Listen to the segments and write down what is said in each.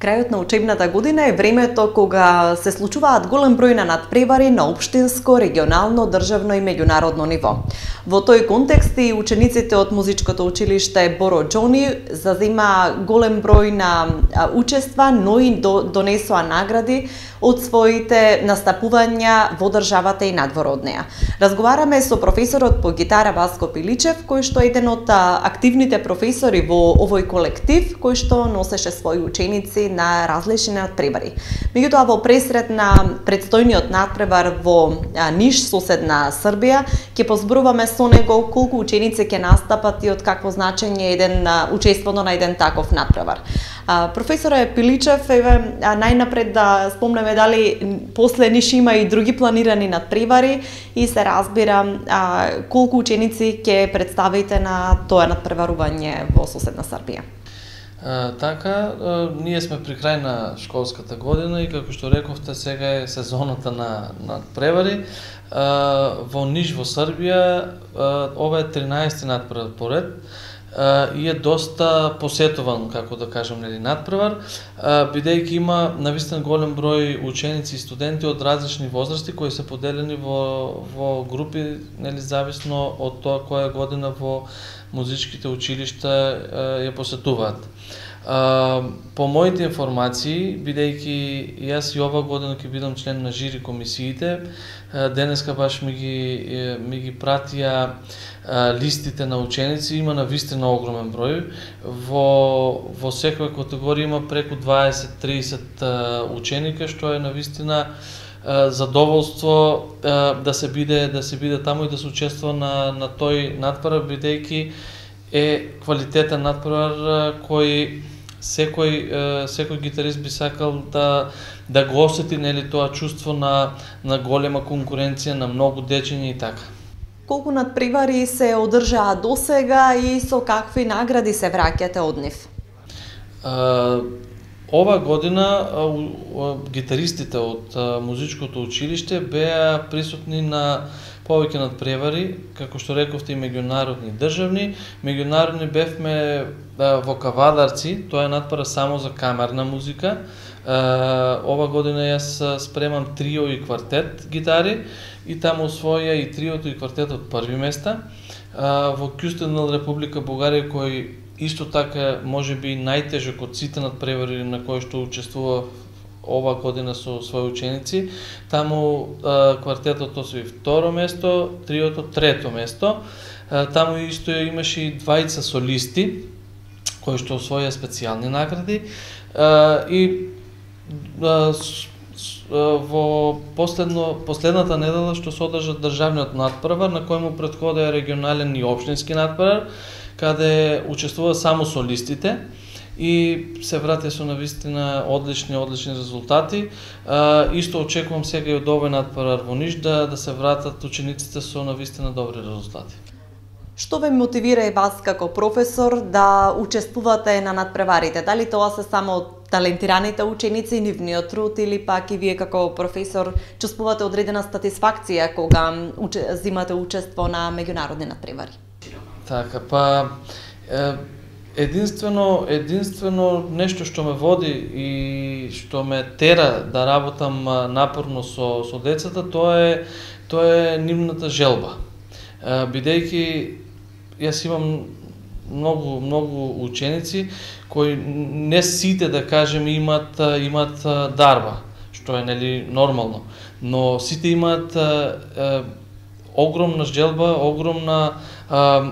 Крајот на учебната година е времето кога се случуваат голем број на надпревари на општинско, регионално, државно и меѓународно ниво. Во тој контекст и учениците од музичкото училиште Боро Џони зазема голем број на учества, но и донесоа награди од своите настапувања во државата и надвор од неа. Разговараме со професорот по гитара Васко Пиличев, кој што е еден од активните професори во овој колектив, кој што носеше своји ученици на различни надпревари. Меѓутоа, во пресрет на предстојниот надпревар во Ниш, соседна Србија, ќе позборуваме со него колку ученици ќе настапат и од какво значење еден учеството на еден таков надпревар. Професоре Пиличев, еве најнапред да спомнеме дали после Ниш има и други планирани надпревари и се разбира колку ученици ќе представите на тоа надпреварување во соседна Србија. Така, ние сме при крај на школската година и како што рековте, сега е сезоната на надпревари. Во Ниш во Србија ова е 13-ти надпревар поред и е доста посетуван, како да кажам, надпревар, бидејќи има навистина голем број ученици и студенти од различни возрасти кои се поделени во групи, зависно од тоа која година во музичките училишта ја посетуваат. По моите информации, бидејќи јас и ова година ќе бидам член на жири комисиите, денеска баш ми ги пратија листите на ученици, има навистина огромен број. Во секоја категорија има преку 20-30 ученика, што е навистина задоволство да се биде таму и да се учествува на тој надпревар, бидејќи е квалитетен надпревар кој секој гитарист би сакал да го осети тоа чувство на голема конкуренција, на многу дечиња и така. Колку надпревари се одржаа досега и со какви награди се враќате од нив? Ова година гитаристите од музичкото училиште беа присутни на повеќе надпревари, како што рековте, и меѓународни и државни. Меѓународни бевме во Кавадарци, тоа е надпревар само за камерна музика. Ова година јас спремам трио и квартет гитари и таму освоја и триото и квартетот први места. Во Кюстендил, Република Бугарија, кој исто така може би најтежок од сите надпревари на кои што учествува ова година со своји ученици, таму квартетот освои второ место, триото трето место. Таму исто имаше и двајца солисти кои што освоја специјални награди и во последната недела што се одржа државниот надпревар, на кој му претходеа регионален и општински надпревар, каде учествува само солистите и се вратија со навистина одлични резултати. Исто очекувам сега и од овој надпревар во Ниш да се вратат учениците со навистина добри резултати. Што ве мотивира и вас како професор да учествувате на надпреварите? Дали тоа се само талентираните ученици, нивниот труд, или пак и вие како професор чувствувате одредена сатисфакција кога земате учество на меѓународни надпревари? Така, па единствено нешто што ме води и што ме тера да работам напорно со децата, тоа е нивната желба. Бидејќи јас имам многу ученици кои не сите, да кажем, имат дарба, што е нормално, но сите имаат огромна желба, огромна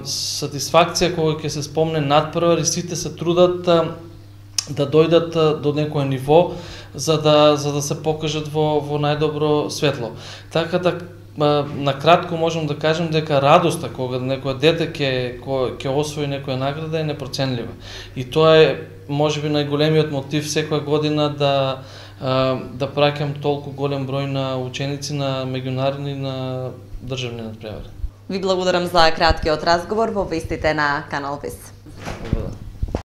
сатисфакција кога ќе се спомне надпревар и сите се трудат да дојдат до некое ниво за да се покажат во најдобро светло. Така да на кратко можам да кажем дека радоста кога некој дете ќе освои некоја награда е непроценлива. И тоа е можеби најголемиот мотив секоја година да праќам толку голем број на ученици на меѓународни и на државни надпревари. Ви благодарам за краткиот разговор во вестите на Канал Вис.